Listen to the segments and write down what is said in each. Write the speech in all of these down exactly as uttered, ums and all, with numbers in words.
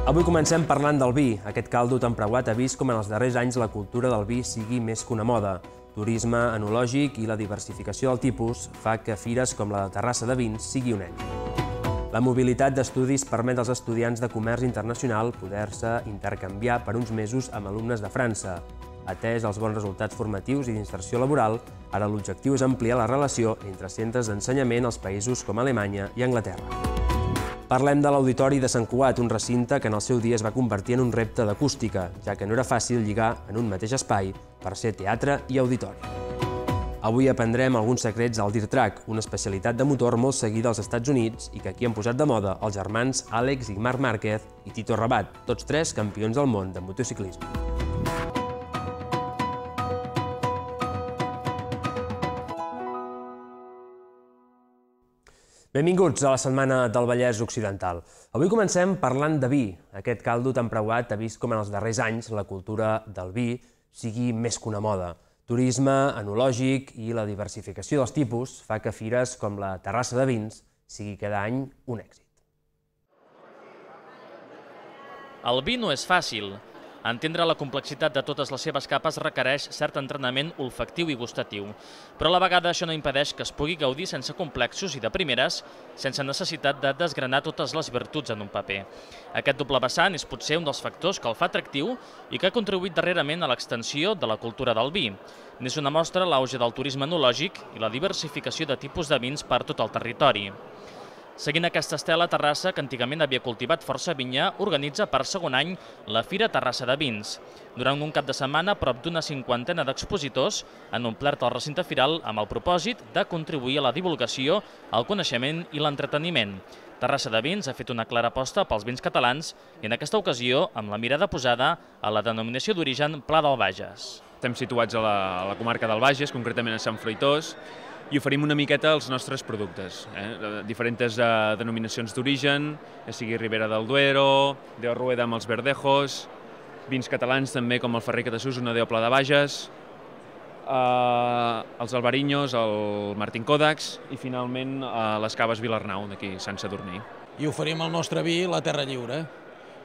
Avui comencem parlant del vi. Aquest caldo tan preuat ha vist com en els darrers anys la cultura del vi sigui més que una moda. Turisme enològic i la diversificació del tipus fa que fires com la de Terrassa de Vins sigui un èxit. La mobilitat d'estudis permet als estudiants de comerç internacional poder-se intercanviar per uns mesos amb alumnes de França. Atès els bons resultats formatius i d'inserció laboral, ara l'objectiu és ampliar la relació entre centres d'ensenyament als països com Alemanya i Anglaterra. Parlem de l'Auditori de Sant Cugat, un recinte que en el seu dia es va convertir en un repte d'acústica, ja que no era fàcil lligar en un mateix espai per ser teatre i auditori. Avui aprendrem alguns secrets del Dirt Track, una especialitat de motor molt seguida als Estats Units i que aquí han posat de moda els germans Àlex i Marc Márquez i Tito Rabat, tots tres campions del món de motociclisme. Benvinguts a la Setmana del Vallès Occidental. Avui comencem parlant de vi. Aquest caldo tan preuat ha vist com en els darrers anys la cultura del vi sigui més que una moda. Turisme enològic i la diversificació dels tipus fa que fires com la Terrassa de Vins sigui cada any un èxit. El vi no és fàcil. Entendre la complexitat de totes les seves capes requereix cert entrenament olfactiu i gustatiu, però a la vegada això no impedeix que es pugui gaudir sense complexos i de primeres, sense necessitat de desgranar totes les virtuts en un paper. Aquest doble vessant és potser un dels factors que el fa atractiu i que ha contribuït darrerament a l'extensió de la cultura del vi. N'és una mostra l'auge del turisme enològic i la diversificació de tipus de vins per tot el territori. Seguint aquesta estela, Terrassa, que antigament havia cultivat força vinya, organitza per segon any la Fira Terrassa de Vins. Durant un cap de setmana, prop d'una cinquantena d'expositors han omplert el recinte firal amb el propòsit de contribuir a la divulgació, el coneixement i l'entreteniment. Terrassa de Vins ha fet una clara aposta pels vins catalans i en aquesta ocasió amb la mirada posada a la denominació d'origen Pla del Bages. Estem situats a la, a la comarca del Bages, concretament a Sant Fruitós, i oferim una miqueta els nostres productes, eh? diferents eh, denominacions d'origen, ja sigui Ribera del Duero, de Rueda amb els Verdejos, vins catalans també com el Ferrer Catassús, una de Pla de Bages, eh, els Albarinyos, el Martín Còdax i finalment eh, les Caves Vilarnau, d'aquí Sant Sadurní. I oferim el nostre vi, la Terra Lliure,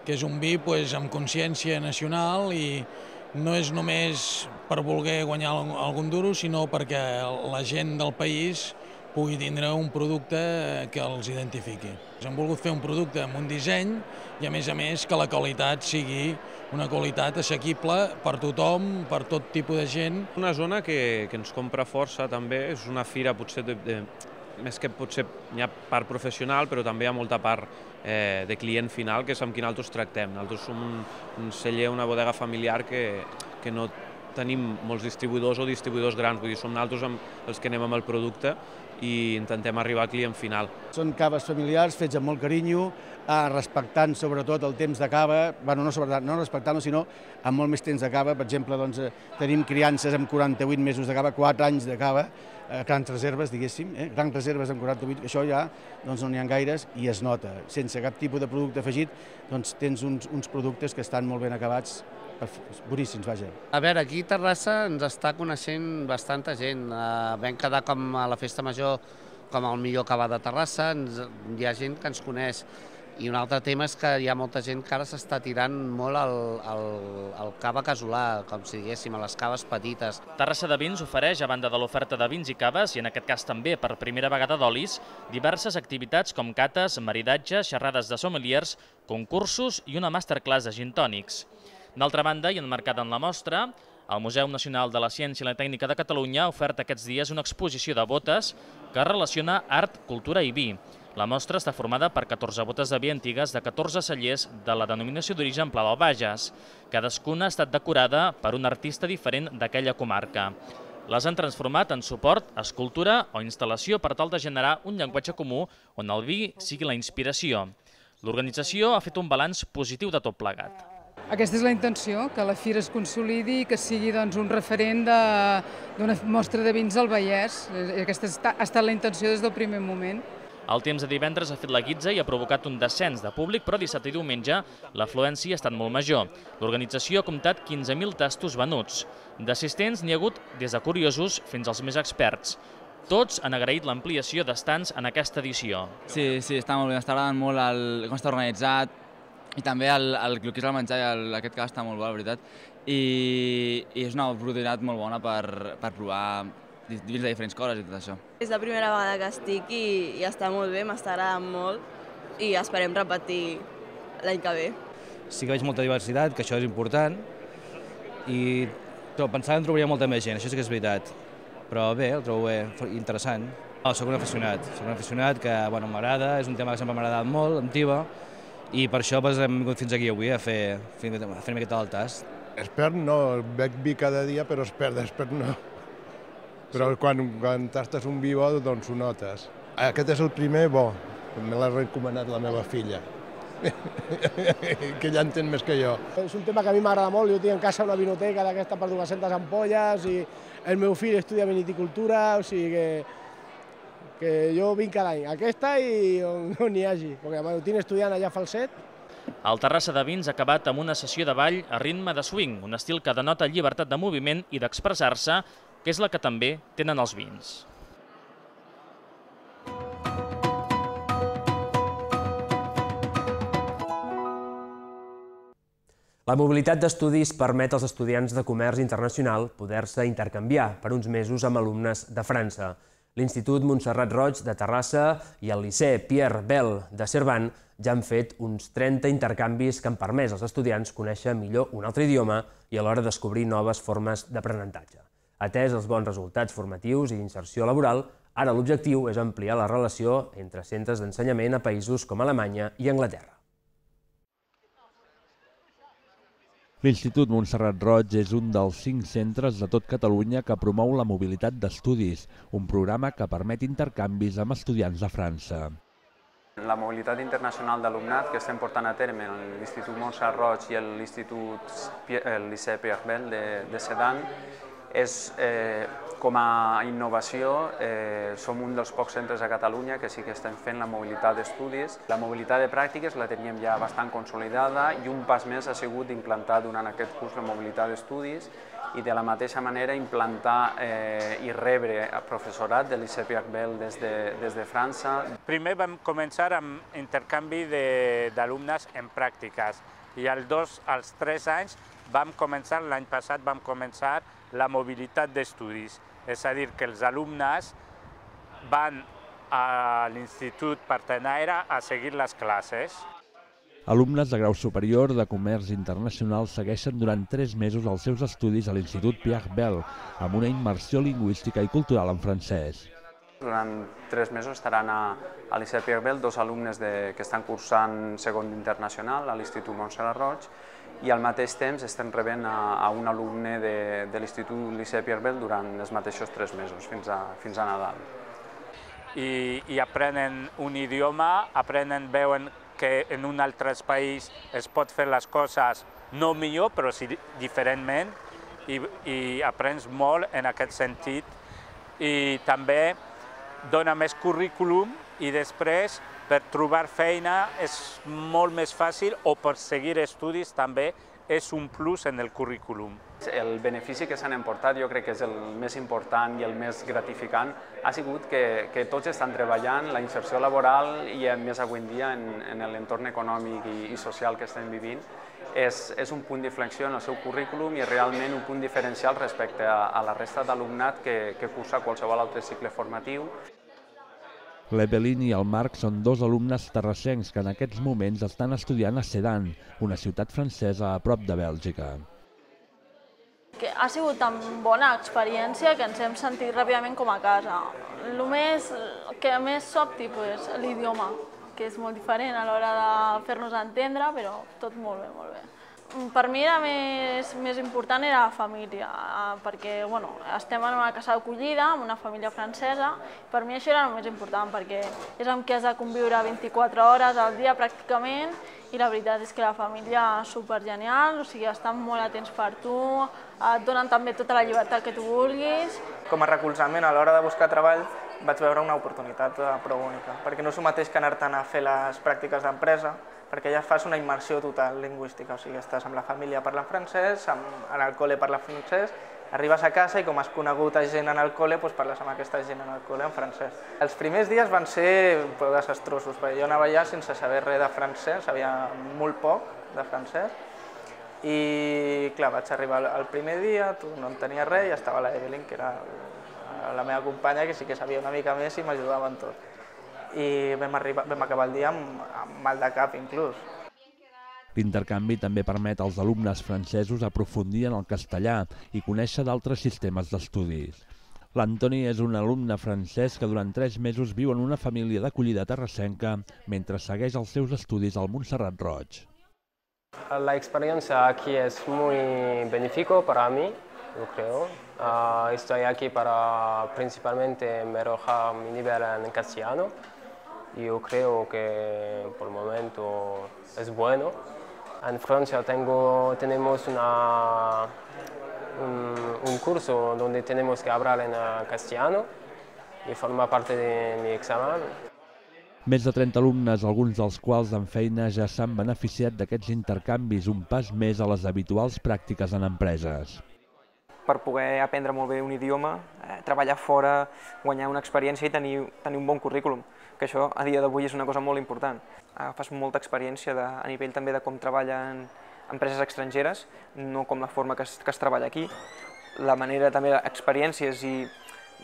que és un vi pues, amb consciència nacional i no és només per voler guanyar algun duro, sinó perquè la gent del país pugui tindre un producte que els identifiqui. Hem volgut fer un producte amb un disseny i, a més a més, que la qualitat sigui una qualitat assequible per tothom, per tot tipus de gent. Una zona que, que ens compra força també, és una fira potser de, de, més que potser hi ha part professional, però també hi ha molta part eh, de client final, que és amb qui nosaltres tractem. Nosaltres som un, un celler, una bodega familiar que, que no tenim molts distribuïdors o distribuïdors grans, vull dir, som nosaltres amb els que anem amb el producte i intentem arribar al client final. Són caves familiars fets amb molt carinyo, eh, respectant sobretot el temps de cava, bueno, no, sobretot, no respectant-lo, sinó amb molt més temps de cava. Per exemple, doncs, eh, tenim criances amb quaranta-vuit mesos de cava, quatre anys de cava, eh, grans reserves, diguéssim, eh, grans reserves amb quaranta-vuit, això ja doncs, no n'hi ha gaires i es nota. Sense cap tipus de producte afegit, doncs tens uns, uns productes que estan molt ben acabats, boníssims, vaja. A veure, aquí a Terrassa ens està coneixent bastanta gent. Uh, vam quedar com a la festa major com el millor cava de Terrassa, ens, hi ha gent que ens coneix. I un altre tema és que hi ha molta gent que ara s'està tirant molt al, al, al cava casolà, com si diguéssim, a les caves petites. Terrassa de Vins ofereix, a banda de l'oferta de vins i caves, i en aquest cas també per primera vegada d'olis, diverses activitats com cates, maridatges, xerrades de sommeliers, concursos i una masterclass de gin tònics. D'altra banda, i emmarcada en la mostra, el Museu Nacional de la Ciència i la Tècnica de Catalunya ha ofert aquests dies una exposició de botes que relaciona art, cultura i vi. La mostra està formada per catorze botes de vi antigues de catorze cellers de la denominació d'origen Pla del Bages. Cadascuna ha estat decorada per un artista diferent d'aquella comarca. Les han transformat en suport, escultura o instal·lació per tal de generar un llenguatge comú on el vi sigui la inspiració. L'organització ha fet un balanç positiu de tot plegat. Aquesta és la intenció, que la fira es consolidi i que sigui doncs, un referent d'una mostra de vins al Vallès. Aquesta ha estat la intenció des del primer moment. El temps de divendres ha fet la guitza i ha provocat un descens de públic, però dissabte i diumenge l'afluència ha estat molt major. L'organització ha comptat quinze mil tastos venuts. D'assistents n'hi ha hagut des de curiosos fins als més experts. Tots han agraït l'ampliació d'estants en aquesta edició. Sí, sí, està molt bé, està agradant molt el, com està organitzat, i també el, el, el que és el menjar, el, aquest cas està molt bo, la veritat, i, i és una oportunitat molt bona per, per provar dins de diferents coses i tot això. És la primera vegada que estic i, i està molt bé, m'està agradant molt i esperem repetir l'any que ve. Sí que veig molta diversitat, que això és important, i però pensava que en trobaria molta més gent, això sí que és veritat. Però bé, el trobo bé, interessant. No, soc un aficionat, soc un aficionat que bueno, m'agrada, és un tema que sempre m'ha agradat molt, amb Tiba, i per això doncs, hem vingut fins aquí avui a fer, a fer una miqueta del tast. Expert no, bec vi cada dia, però expert, expert no. Però quan, quan tastes un vi bo, doncs ho notes. Aquest és el primer bo, me l'ha recomanat la meva filla. Que ella entén més que jo. És un tema que a mi m'agrada molt, jo tinc en casa una vinoteca d'aquesta per dues-centes ampolles i el meu fill estudia vinicultura, o sigui que, que jo vinc cada any, aquesta i on, on n'hi hagi, perquè ho tinc estudiant allà a Falset. El Terrassa de Vins ha acabat amb una sessió de ball a ritme de swing, un estil que denota llibertat de moviment i d'expressar-se, que és la que també tenen els vins. La mobilitat d'estudis permet als estudiants de comerç internacional poder-se intercanviar per uns mesos amb alumnes de França. L'Institut Montserrat Roig de Terrassa i el Liceu Pierre Bel de Cervant ja han fet uns trenta intercanvis que han permès als estudiants conèixer millor un altre idioma i alhora descobrir noves formes d'aprenentatge. Atès els bons resultats formatius i d'inserció laboral, ara l'objectiu és ampliar la relació entre centres d'ensenyament a països com Alemanya i Anglaterra. L'Institut Montserrat Roig és un dels cinc centres de tot Catalunya que promou la mobilitat d'estudis, un programa que permet intercanvis amb estudiants de França. La mobilitat internacional d'alumnat que estem portant a terme en l'Institut Montserrat Roig i l'Institut el Liceu Pierre Bel de, de Sedan és, eh, com a innovació, eh, som un dels pocs centres a Catalunya que sí que estem fent la mobilitat d'estudis. La mobilitat de pràctiques la teníem ja bastant consolidada i un pas més ha sigut implantar durant aquest curs la mobilitat d'estudis i de la mateixa manera implantar eh, i rebre professorat de l'Liceu Pierre Bel des de, des de França. Primer vam començar amb intercanvi d'alumnes en pràctiques i als dos, als tres anys vam començar, l'any passat vam començar la mobilitat d'estudis, és a dir, que els alumnes van a l'Institut Partenaire a seguir les classes. Alumnes de grau superior de comerç internacional segueixen durant tres mesos els seus estudis a l'Institut Pierre Bel, amb una immersió lingüística i cultural en francès. Durant tres mesos estaran a, a l'Liceu Pierre Bel dos alumnes de, que estan cursant segon internacional a l'Institut Montserrat Roig i al mateix temps estem rebent a, a un alumne de, de l'Institut Liceu Pierre Bel durant els mateixos tres mesos, fins a, fins a Nadal. I, I aprenen un idioma, aprenen, veuen que en un altre país es pot fer les coses no millor, però sí diferentment, i, i aprens molt en aquest sentit. I també dona més currículum i després per trobar feina és molt més fàcil o per seguir estudis també és un plus en el currículum. El benefici que s'han emportat, jo crec que és el més important i el més gratificant, ha sigut que, que tots estan treballant la inserció laboral i més avui en dia en, en l'entorn econòmic i, i social que estem vivint. És, és un punt d'inflexió en el seu currículum i realment un punt diferencial respecte a, a la resta d'alumnat que, que cursa qualsevol altre cicle formatiu. L'Evelyn i el Marc són dos alumnes terrassencs que en aquests moments estan estudiant a Sedan, una ciutat francesa a prop de Bèlgica. Que ha sigut tan bona experiència que ens hem sentit ràpidament com a casa. El més, que més sobti, pues, l'idioma, que és molt diferent a l'hora de fer-nos entendre, però tot molt bé, molt bé. Per mi era més, més important era la família, perquè bueno, estem en una casa d'acollida, amb una família francesa. Per mi això era el més important, perquè és amb qui has de conviure vint-i-quatre hores al dia pràcticament, i la veritat és que la família és supergenial, o sigui, estan molt atents per tu, et donen també tota la llibertat que tu vulguis. Com a recolzament a l'hora de buscar treball vaig veure una oportunitat prou única, perquè no és el mateix que anar-te'n a fer les pràctiques d'empresa, perquè ja fas una immersió total lingüística, o sigui, estàs amb la família parlant francès, amb, en el col·le parlant francès, Arribes a casa i com has conegut a gent en el col·le, doncs parles amb aquesta gent en el col·le en francès. Els primers dies van ser desastrosos, perquè jo anava allà sense saber res de francès, sabia molt poc de francès, i clar, vaig arribar el primer dia, no en tenia res, i estava la Evelyn, que era la meva companya, que sí que sabia una mica més i m'ajudava en tot. I vam, arribar, vam acabar el dia amb, amb mal de cap, inclús. L'intercanvi també permet als alumnes francesos aprofundir en el castellà i conèixer d'altres sistemes d'estudis. L'Antoni és un alumne francès que durant tres mesos viu en una família d'acollida terrassenca mentre segueix els seus estudis al Montserrat Roig. La experiencia aquí es muy benéfica para mí, yo creo. Uh, estoy aquí para principalmente mejorar mi nivel en castellano. Yo creo que por el momento es bueno. En Francia tengo, tenemos una, un, un curso donde tenemos que hablar en castellano y forma parte de mi examen. Més de trenta alumnes, alguns dels quals amb feina ja s'han beneficiat d'aquests intercanvis, un pas més a les habituals pràctiques en empreses. Per poder aprendre molt bé un idioma, eh, treballar fora, guanyar una experiència i tenir, tenir un bon currículum, que això a dia d'avui és una cosa molt important. Agafes molta experiència de, a nivell també de com treballen empreses estrangeres, no com la forma que es, que es treballa aquí. La manera també d'experiències i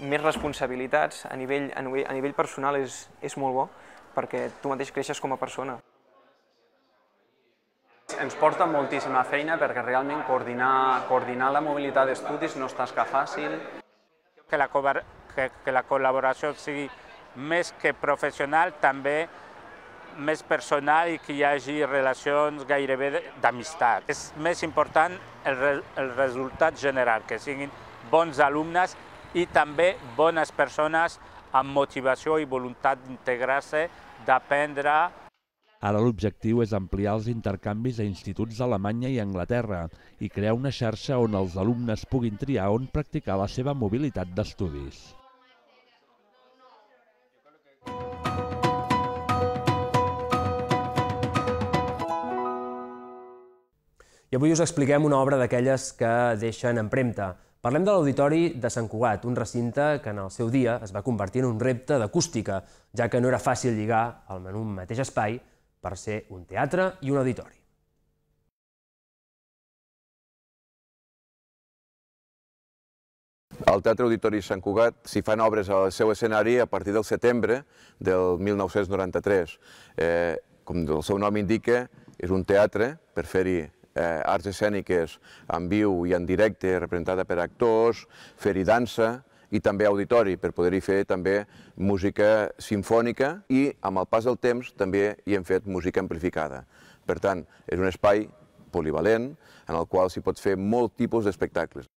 més responsabilitats a nivell, a nivell, a nivell personal és, és molt bo, perquè tu mateix creixes com a persona. Ens porta moltíssima feina perquè realment coordinar, coordinar la mobilitat d'estudis no és tasca fàcil. Que la, que, que la col·laboració sigui més que professional, també més personal i que hi hagi relacions gairebé d'amistat. És més important el, el resultat general, que siguin bons alumnes i també bones persones amb motivació i voluntat d'integrar-se, d'aprendre. Ara l'objectiu és ampliar els intercanvis a instituts d'Alemanya i Anglaterra i crear una xarxa on els alumnes puguin triar on practicar la seva mobilitat d'estudis. I avui us expliquem una obra d'aquelles que deixen empremta. Parlem de l'Auditori de Sant Cugat, un recinte que en el seu dia es va convertir en un repte d'acústica, ja que no era fàcil lligar en un mateix espai per ser un teatre i un auditori. Al Teatre Auditori Sant Cugat s'hi fan obres al seu escenari a partir del setembre del mil nou-cents noranta-tres. Eh, com el seu nom indica, és un teatre per fer-hi eh, arts escèniques en viu i en directe, representada per actors, fer-hi dansa i també auditori, per poder-hi fer també música simfònica i, amb el pas del temps, també hi hem fet música amplificada. Per tant, és un espai polivalent en el qual s'hi pot fer molt tipus d'espectacles.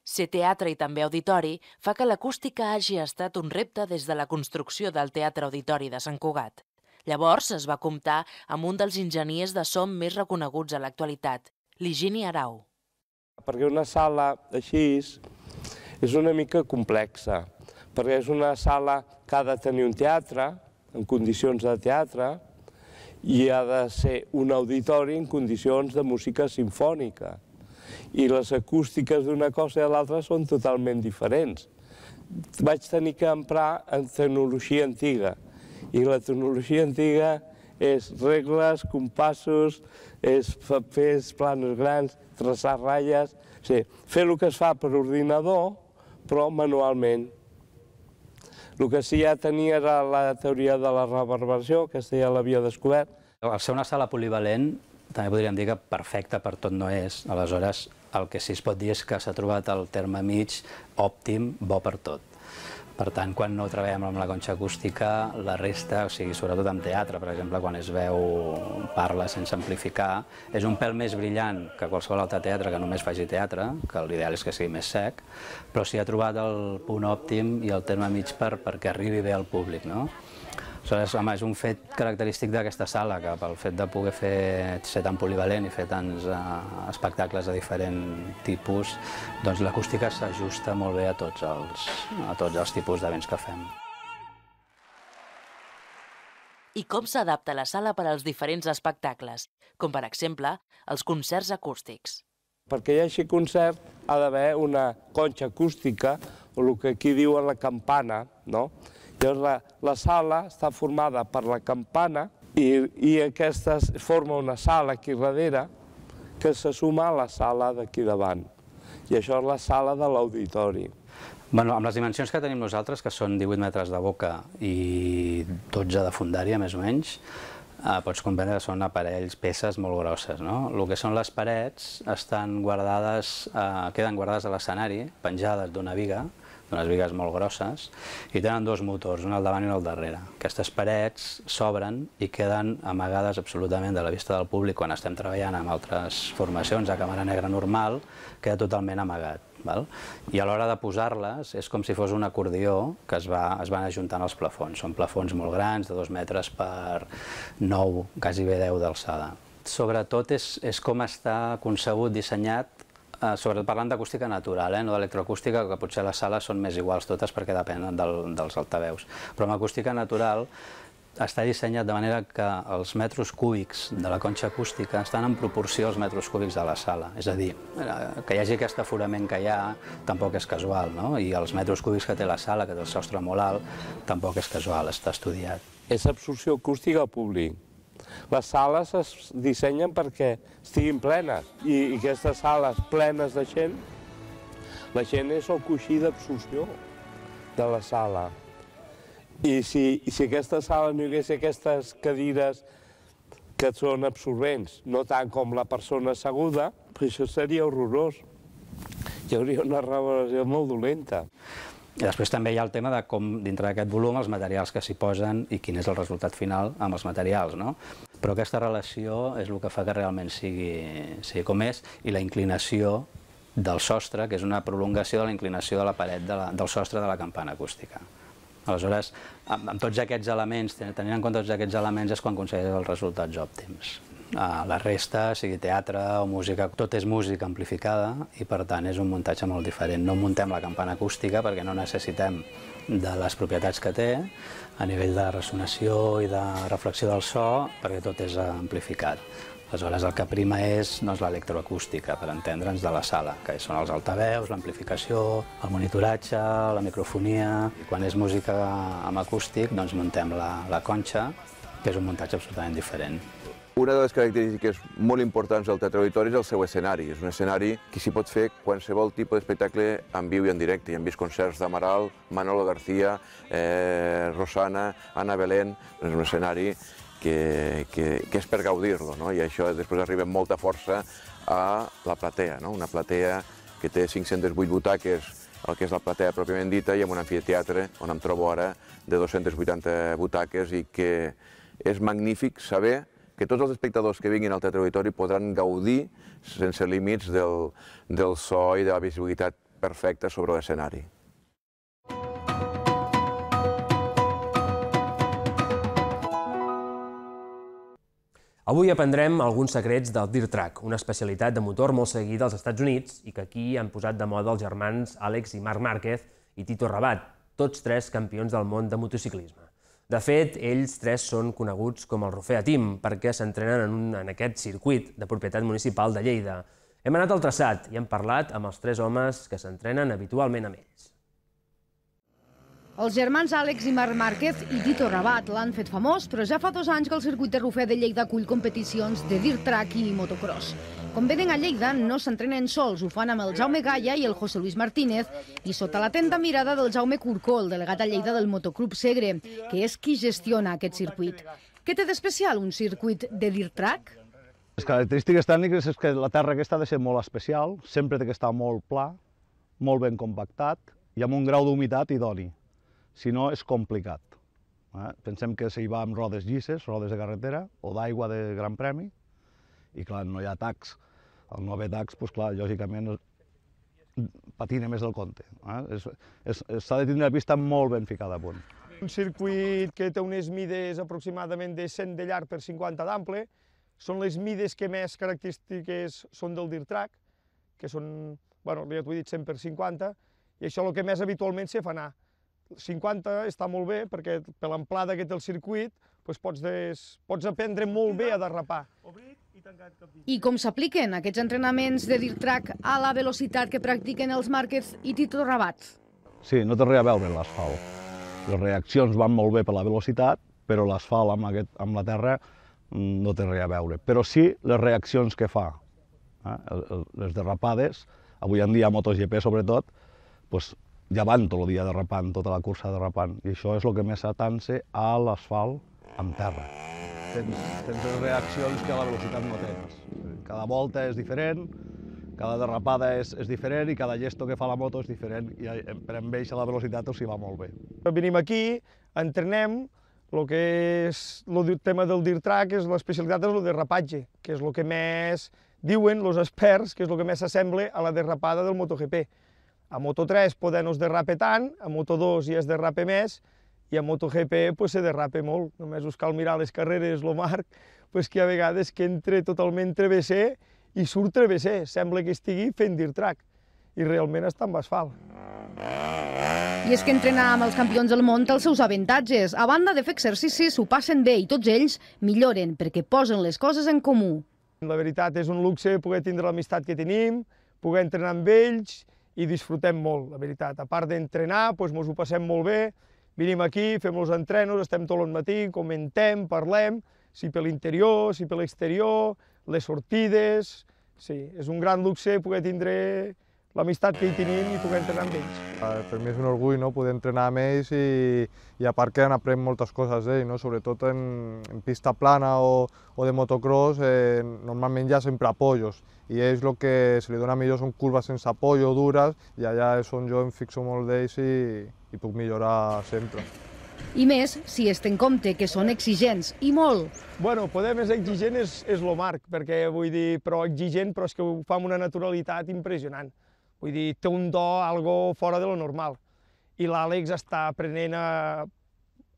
Ser teatre i també auditori fa que l'acústica hagi estat un repte des de la construcció del Teatre Auditori de Sant Cugat. Llavors es va comptar amb un dels enginyers de so més reconeguts a l'actualitat, l'Higini Arau. Perquè una sala així és una mica complexa, perquè és una sala que ha de tenir un teatre, en condicions de teatre, i ha de ser un auditori en condicions de música simfònica. I les acústiques d'una cosa i de l'altra són totalment diferents. Vaig tenir que emprar en tecnologia antiga, i la tecnologia antiga és regles, compassos, és papers, planos grans, traçar ratlles, o sigui, fer el que es fa per ordinador, però manualment. El que sí ja tenia era la teoria de la reverberació, aquesta ja l'havia descobert. Al ser una sala polivalent, també podríem dir que perfecta per tot no és. Aleshores, el que sí es pot dir és que s'ha trobat el terme mig òptim, bo per tot. Per tant, quan no treballem amb la conxa acústica, la resta, o sigui, sobretot en teatre, per exemple, quan es veu, parla sense amplificar, és un pèl més brillant que qualsevol altre teatre que només faci teatre, que l'ideal és que sigui més sec, però sí ha trobat el punt òptim i el terme mig per, perquè arribi bé al públic, no? Aleshores, home, és un fet característic d'aquesta sala, que pel fet de poder fer, ser tan polivalent i fer tants uh, espectacles de diferent tipus, doncs l'acústica s'ajusta molt bé a tots els, a tots els tipus d'events que fem. I com s'adapta la sala per als diferents espectacles, com per exemple els concerts acústics. Perquè hi hagi concert ha d'haver una conxa acústica, o el que aquí diuen la campana, no? Llavors la, la sala està formada per la campana i, i aquesta forma una sala aquí darrere que se suma a la sala d'aquí davant. I això és la sala de l'auditori. Bueno, amb les dimensions que tenim nosaltres, que són divuit metres de boca i dotze de fundària, més o menys, eh, pots comprendre que són aparells, peces molt grosses, no? El que són les parets estan guardades, eh, queden guardades a l'escenari, penjades d'una viga, d'unes vigues molt grosses, i tenen dos motors, un al davant i un al darrere. Aquestes parets s'obren i queden amagades absolutament de la vista del públic quan estem treballant amb altres formacions a càmera negra normal, queda totalment amagat. Val? I a l'hora de posar-les és com si fos un acordió que es, va, es van ajuntant als plafons. Són plafons molt grans, de dos metres per nou, quasi bé deu d'alçada. Sobretot és, és com està concebut, dissenyat, eh, sobretot parlant d'acústica natural, eh, no d'electroacústica, que potser les sales són més iguals totes perquè depenen del, dels altaveus. Però amb acústica natural està dissenyat de manera que els metres cúbics de la conxa acústica estan en proporció als metres cúbics de la sala. És a dir, que hi hagi aquest aforament que hi ha tampoc és casual, no? I els metres cúbics que té la sala, que té el sostre molt alt, tampoc és casual, està estudiat. És absorció acústica al públic. Les sales es dissenyen perquè estiguin plenes i, i aquestes sales plenes de gent, la gent és el coixí d'absorció de la sala. I si, i si aquesta sala no hi hagués aquestes cadires que són absorbents, no tant com la persona asseguda, pues això seria horrorós. Hi hauria una reverberació molt dolenta. I després també hi ha el tema de com, dintre d'aquest volum, els materials que s'hi posen i quin és el resultat final amb els materials, no? Però aquesta relació és el que fa que realment sigui, sigui com és, i la inclinació del sostre, que és una prolongació de la inclinació de la paret de la, del sostre de la campana acústica. Aleshores, amb, amb tots aquests elements, tenint en compte tots aquests elements, és quan aconsegueix els resultats òptims. La resta, sigui teatre o música, tot és música amplificada i per tant és un muntatge molt diferent. No muntem la campana acústica perquè no necessitem de les propietats que té a nivell de ressonació i de reflexió del so perquè tot és amplificat. Aleshores, el que prima és doncs, l'electroacústica, per entendre'ns, de la sala, que són els altaveus, l'amplificació, el monitoratge, la microfonia. I quan és música amb acústic, doncs muntem la, la conxa, que és un muntatge absolutament diferent. Una de les característiques molt importants del Teatre Auditori és el seu escenari. És un escenari que s'hi pot fer qualsevol tipus d'espectacle en viu i en directe. Hi hem vist concerts d'Amaral, Manolo García, eh, Rosana, Ana Belén. És un escenari que, que, que és per gaudir-lo, no? I això després arriba amb molta força a la platea, no? Una platea que té cinc-centes vuit butaques, el que és la platea pròpiament dita, i amb un amfiteatre on em trobo ara de dos-centes vuitanta butaques i que és magnífic saber que tots els espectadors que vinguin al Teatre Auditori podran gaudir sense límits del, del so i de la visibilitat perfecta sobre l'escenari. Avui aprendrem alguns secrets del Dirt Track, una especialitat de motor molt seguida als Estats Units i que aquí han posat de moda els germans Àlex i Marc Márquez i Tito Rabat, tots tres campions del món de motociclisme. De fet, ells tres són coneguts com el Rufea Team perquè s'entrenen en, un, en aquest circuit de propietat municipal de Lleida. Hem anat al traçat i hem parlat amb els tres homes que s'entrenen habitualment amb ells. Els germans Àlex i Marc Márquez i Tito Rabat l'han fet famós, però ja fa dos anys que el circuit de Rufea de Lleida acull competicions de dirt track i motocross. Com venen a Lleida, no s'entrenen sols, ho fan amb el Jaume Gaya i el José Luis Martínez i sota l'atenta mirada del Jaume Curcó, el delegat a Lleida del Motoclub Segre, que és qui gestiona aquest circuit. Què té d'especial un circuit de dirt track? Les característiques tècniques és que la terra aquesta ha de ser molt especial, sempre té que estar molt pla, molt ben compactat i amb un grau d'humitat idoni. Si no, és complicat. Eh? Pensem que s'hi va amb rodes llisses, rodes de carretera o d'aigua de gran premi, i clar, no hi ha tacs. Al no haver tacs, doncs clar, lògicament patina més del compte. Eh? S'ha de tenir una pista molt ben ficada a punt. Un circuit que té unes mides aproximadament de cent de llarg per cinquanta d'ample, són les mides que més característiques són del dirt track, que són, bueno, ja t'ho he dit, cent per cinquanta, i això és el que més habitualment se fa anar. cinquanta està molt bé, perquè per l'amplada que té el circuit pots aprendre molt bé a derrapar. I com s'apliquen aquests entrenaments de dirt track a la velocitat que practiquen els Márquez i Tito Rabat? Sí, no té res a veure l'asfalt. Les reaccions van molt bé per la velocitat, però l'asfalt amb la terra no té res a veure. Però sí les reaccions que fa, les derrapades, avui en dia a MotoGP sobretot, ja van tot el dia derrapant, tota la cursa derrapant, i això és el que més s'atansa a l'asfalt amb terra. Tens les reaccions que a la velocitat no tens. Cada volta és diferent, cada derrapada és diferent i cada gesto que fa la moto és diferent, i per amb ells a la velocitat s'hi va molt bé. Venim aquí, entrenem, el que és el tema del dirt track, l'especialitat és el derrapatge, que és el que més diuen els experts, que és el que més s'assembla a la derrapada del MotoGP. A Moto tres poder no es derrape tant, a Moto dos ja es derrape més, i a MotoGP se derrapa molt. Només us cal mirar les carreres, el Marc, que hi ha vegades que entra totalment travesser i surt travesser. Sembla que estigui fent dirt track, i realment està amb asfalt. I és que entrenar amb els campions del món té els seus avantatges. A banda de fer exercicis, s'ho passen bé i tots ells milloren perquè posen les coses en comú. La veritat és un luxe poder tindre l'amistat que tenim, poder entrenar amb ells i disfrutem molt, la veritat. A part d'entrenar, ens ho passem molt bé, venim aquí, fem els entrenos, estem tot el matí, comentem, parlem, si per l'interior, si per l'exterior, les sortides. Sí, és un gran luxe poder tindre l'amistat que hi tenim i poder entrenar amb ells. Per mi és un orgull poder entrenar amb ells i a part que n'aprèn moltes coses d'ells, sobretot en pista plana o de motocross, normalment hi ha sempre apoyos i ells el que se li dona millor són curves sense apoyo, dures, i allà és on jo em fixo molt d'ells i puc millorar sempre. I més si es té en compte que són exigents, i molt. Bueno, poder més exigent és el Marc, perquè vull dir, però exigent, però és que ho fa amb una naturalitat impressionant. Vull dir, té un do, algo fora de lo normal. I l'Àlex està aprenent a...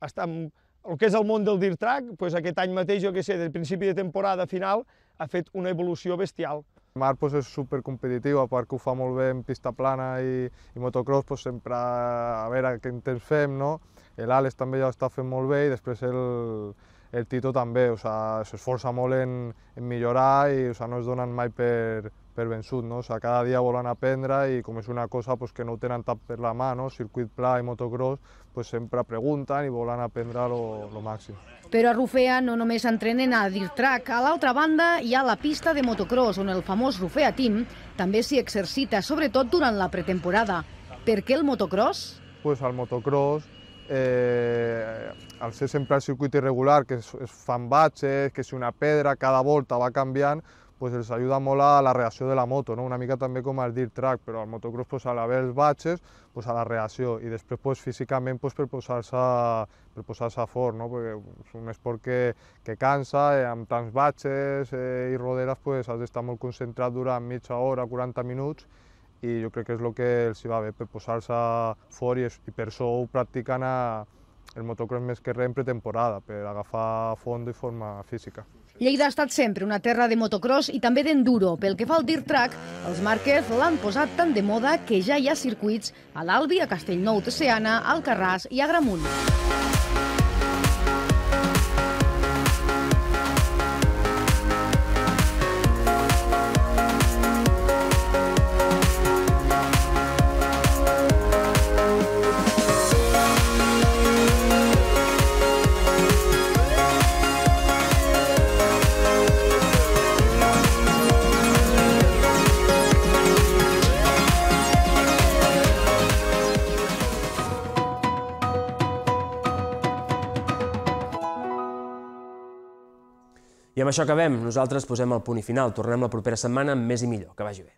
El que és el món del dirt track, aquest any mateix, jo què sé, del principi de temporada a final, ha fet una evolució bestial. Marc és supercompetitiu, a part que ho fa molt bé en pista plana i motocross, sempre a veure quin temps fem, no? L'Àlex també ja ho està fent molt bé i després el Tito també, s'esforça molt en millorar i no es donen mai per vençut, no? Cada dia volen aprendre i com és una cosa que no ho tenen tant per la mà, circuit pla i motocross, sempre pregunten i volen aprendre el màxim. Però a Rufea no només entrenen a dirt track, a l'altra banda hi ha la pista de motocross, on el famós Rufea Team també s'hi exercita, sobretot durant la pretemporada. Per què el motocross? El motocross, al ser sempre el circuit irregular, que es fan batxes, que si una pedra cada volta va canviant, els ajuda molt a la reacció de la moto, una mica també com el dirt track, però al motocross, a l'haver els batxes, a la reacció, i després físicament per posar-se fort, perquè és un esport que cansa, amb tants batxes i roderes has d'estar molt concentrat durant mitja hora, quaranta minuts, i jo crec que és el que els va bé, per posar-se fort, i per això ho practiquen el motocross més que res en pretemporada, per agafar fons i forma física. Lleida ha estat sempre una terra de motocross i també d'enduro. Pel que fa al dirt track, els Márquez l'han posat tan de moda que ja hi ha circuits a l'Albi, a Castellnou de Seana, a Alcarràs i a Agramunt. I amb això acabem. Nosaltres posem el punt i final. Tornem la propera setmana amb més i millor. Que vagi bé.